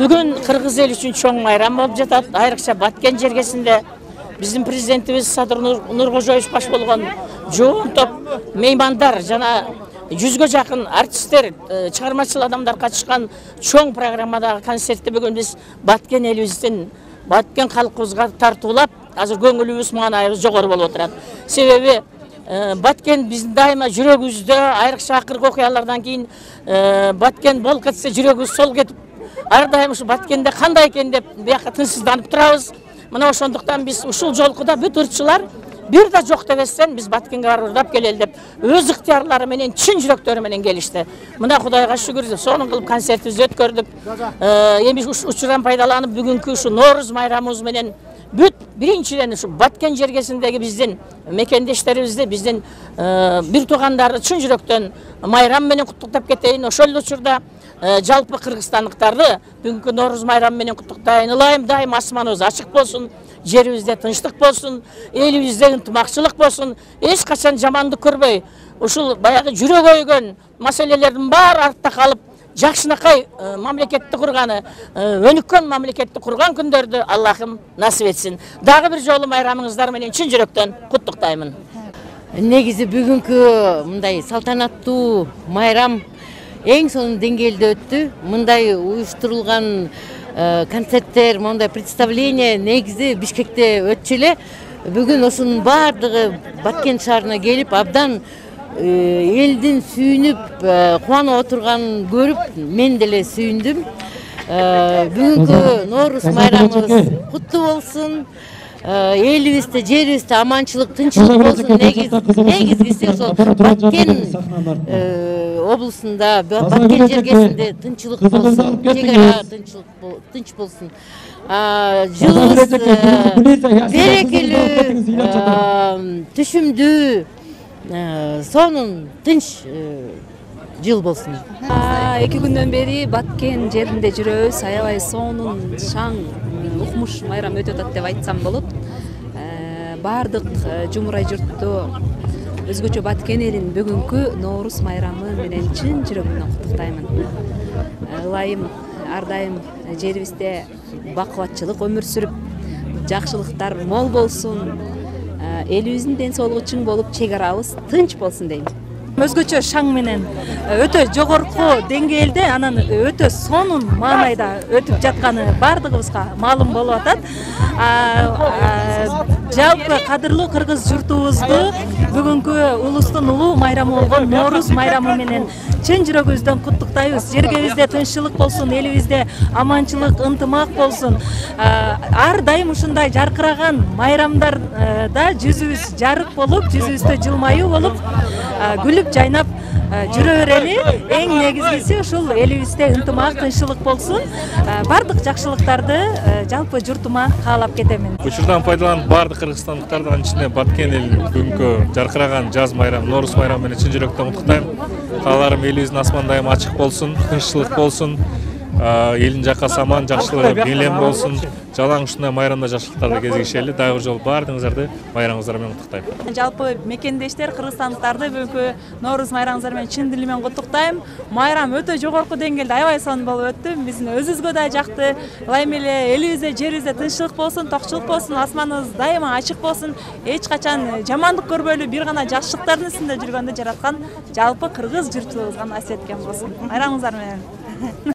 Бүгүн кыргыз эл үчүн чоң майрам болуп жатат. Айрыкча Баткен жергесинде биздин президентибиз Садыр Нуркожоевич баш болгон жоон топ меймандар жана 100ге жакын артисттер, чыгармачыл адамдар катышкан чоң программадагы концертти бүгүн биз Баткен элибиздин, Баткен калкыбызга тартуулап, азыр көңүлүбүз, маанайыбыз жогору болуп отурат. Себеби Баткен биздин дайыма жүрөгүбүздө, айрыкча акыркы окуялардан кийин Баткен бол кетсе жүрөгүбүз сол кетип, ар дайым ушу Баткенде кандай экен деп бияка тынчсызданып турабыз. Мына ошондуктан биз ушул жолкуда бүт ырчылар бир да жок дебестен биз Баткенге барып ырдап келели деп өз ыктыярлары менен, чын жүрөктөрү менен келишти. Мына Кудайга шүгүр, сонун кылып концертибизди өткөрдүк. Эми учурдан пайдаланып бүгүнкү ушу Нооруз майрамыбыз менен бүт биринчиден ушу Баткен жергесиндеги биздин мекендештерибизди, биздин бир туугандарды чын жүрөктөн майрам менен куттуктап кетейин. Ошол эле учурда жалпы кыргызстандыктарды бүгүнкү Нооруз майрамы менен куттуктайын. Ылайым дайым асманыбыз ачык болсун, жерибизде тынчтык болсун, элибизде ынтымакчылык болсун, эч качан жамандык көрбөй, ушул баягы жүрөк өйгөн маселелердин баары артта калып, жакшынакай мамлекетти курганы, өнүккөн мамлекетти курган күндөрдү Аллахым насип этсин. Дагы бир жолу майрамыңыздар менен чын жүрөктөн куттуктаймын. Негизи бүгүнкү мындай салтанаттуу майрам эң сонун деңгээлде өттү. Мындай уюштурулган концерттер, мындай представление негизи Бишкекте өтчү эле. Бүгүн ошонун баардыгы Баткен шаарына келип, абдан элдин сүйүнүп, кубанып отурганын көрүп, мен деле сүйүндүм. Бүгүнкү Нооруз майрамыбыз куттуу болсун. Элибизде, жерибизде аманчылык, тынччылык болсун. Негизгиси ошол Баткен облусунда, Баткен жергесинде тынччылык болсун, чек ара тынч болсун. Жылыбыз берекелүү, түшүмдүү, сонун, тынч жыл болсун. 2 күндөн бери Баткен жеринде жүрөбүз. Аябай сонун, шаң, укмуш майрам өтүп атат деп айтсам болот. Бардык жумурай журтту, өзгөчө Баткен элин бүгүнкү Нооруз майрамы менен чын жүрөгүмдөн куттуктаймын. Ылайым ар дайым жерибизде бакубатчылык өмүр сүрүп, жакшылыктар мол болсун, элибиздин ден соолугу чың болуп, чек арабыз тынч болсун дейм. Өзгөчө шаң менен өтө жогорку деңгээлде, анан өтө сонун маанайда өтүп жатканы бардыгыбызга маалым болуп атат. Жалпы кадырлуу кыргыз журтубузду бүгүнкү улустун улуу майрамы болгон Нооруз майрамы менен чын жүрөгүбүздөн куттуктайбыз. Жергебизде тынччылык болсун, элибизде аманчылык, ынтымак болсун. Ар дайым ушундай жаркыраган майрамдарда жүзүбүз жарык болуп, жүзүбүздө жылмаюу болуп, күлүп жайнап жүрө берели. Эң негизгиси ушул элибизде ынтымак, тынччылык болсун. Бардык жакшылыктарды жалпы журтума каалап кетемин. Учурдан пайдаланып бардык кыргызстандыктарды, анын ичинде Баткен элин бүгүнкү жаркыраган жаз майрамы, Нооруз майрамы менен чын жүрөктөн куттуктайм. Кааларым элибиздин асман дайым ачык болсун, тынччылык болсун, элдин жакасы аман, жакшылык бийлем болсун. Жалаң ушундай майрамда жакшылыктарды кезигишели. Дагы бир жолу баардыгыңыздарды майрамыңыздар менен куттуктайм. Жалпы мекендештер, кыргызстандыктарды бүгүнкү Нооруз майрамыңыздар менен чын дилимен куттуктайм. Майрам өтө жогорку деңгээлде аябай сонун болуп өттү. Биздин өзүбүзгө да жакты. Ылайым эле элибизде, жерибизде тынччылык болсун, токчулук болсун, асманыбыз дайыма ачык болсун. Эч качан жамандык көрбөйлү, бир гана жакшылыктардын үстүндө жүргөндү жараткан жалпы кыргыз журтубузга насип эткен болсун. Майрамыңыздар менен.